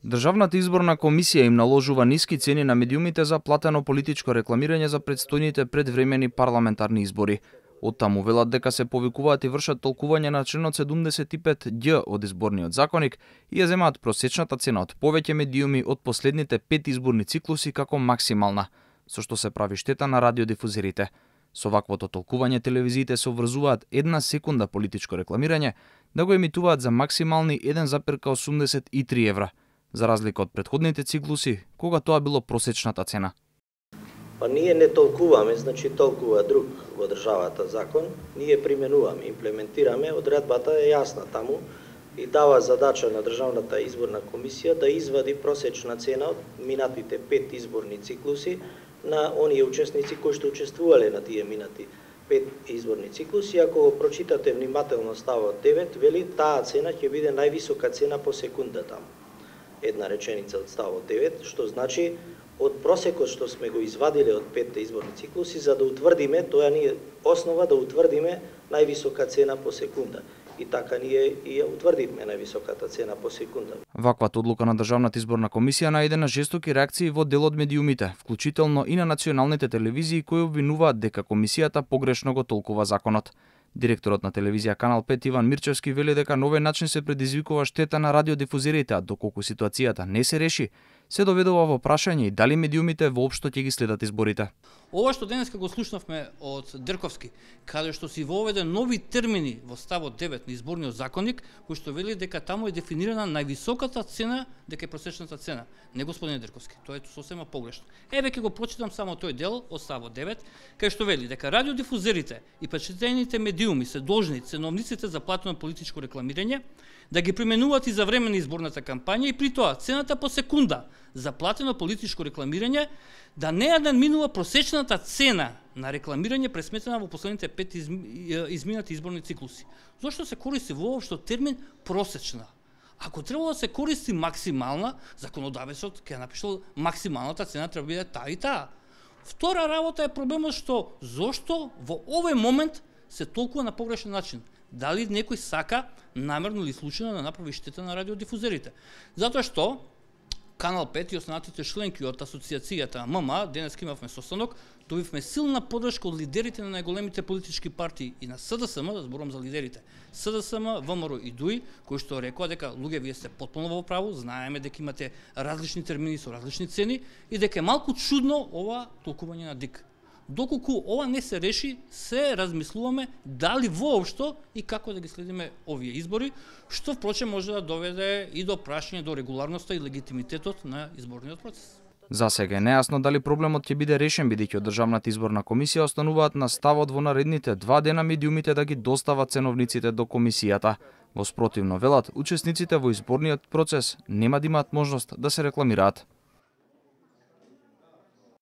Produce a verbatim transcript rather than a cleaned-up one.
Државната изборна комисија им наложува ниски цени на медиумите за платено политичко рекламирање за предстојните предвремени парламентарни избори. Оттаму велат дека се повикуваат и вршат толкување на членот седумдесет и пет ѓ од изборниот законник и ја земаат просечната цена од повеќе медиуми од последните пет изборни циклуси како максимална, со што се прави штета на радиодифузерите. Со ваквото толкување телевизиите се обврзуваат една секунда политичко рекламирање да го емитуваат за максимални еден зарез осумдесет и три евра, за разлика од претходните циклуси, кога тоа било просечната цена. Па ние не толкуваме, значи толкува друг во државата закон, ние применуваме, имплементираме, одредбата е јасна таму и дава задача на Државната изборна комисија да извади просечна цена од минатите пет изборни циклуси на оние учесници кои што учествувале на тие минати пет изборни циклуси. Ако го прочитате внимателно ставот девет, вели таа цена ќе биде највисока цена по секунда таму. Една реченица од ставот девет, што значи од просекот што сме го извадиле од петте изборни циклуси, за да утврдиме, тоа ни е основа да утврдиме највисока цена по секунда. И така ние и ја утврдивме највисоката цена по секунда. Ваквата одлука на Државната изборна комисија најде на жестоки реакции во дел од медиумите, вклучително и на националните телевизии кои обвинуваат дека комисијата погрешно го толкува законот. Директорот на телевизија Канал пет Иван Мирчевски вели дека на овој начин се предизвикува штета на радиодифузерите, а доколку ситуацијата не се реши, се доведува во прашање и дали медиумите воопшто ќе ги следат изборите. Ова што денеска го слушнавме од Дерковски, каде што си воведе нови термини во ставот девет на изборниот законник, кој што вели дека таму е дефинирана највисоката цена, дека е просечната цена. Не, господине Дерковски, тоа е сосема погрешно. Еве ќе го прочитам само тој дел од ставот девет, кај што вели дека радиодифузерите и печатените медиуми се должни ценовниците за платено политичко рекламирање да ги применуваат и за време на изборната кампања и при тоа цената по секунда за платено политичко рекламирање да не ја надминува просечната цена на рекламирање пресметена во последните пет изминати изборни циклуси. Зошто се користи воопшто термин просечна? Ако требало да се користи максимална, законодавецот ќе напишал максималната цена треба биде таа и таа. Втора работа е проблемот што зошто во овој момент се толкува на погрешен начин. Дали некој сака намерно или случајно да направи штета на радиодифузерите? Затоа што Канал пет и останатите членки од асоциацијата М М А, денес имавме состанок, добивме силна поддршка од лидерите на најголемите политички партии и на С Д С М, да зборам за лидерите, С Д С М, В М Р и Д У И, кои што рекоа дека луѓе вие сте потполно во право, знаеме дека имате различни термини со различни цени и дека е малку чудно ова толкување на Д И К. Доколку ова не се реши, се размислуваме дали воопшто и како да ги следиме овие избори, што впрочем може да доведе и до прашање до регуларноста и легитимитетот на изборниот процес. За сега е нејасно дали проблемот ќе биде решен, бидејќи од Државната изборна комисија остануваат на ставот во наредните два дена медиумите да ги достават ценовниците до комисијата. Во спротивно велат, учесниците во изборниот процес нема да имаат можност да се рекламираат.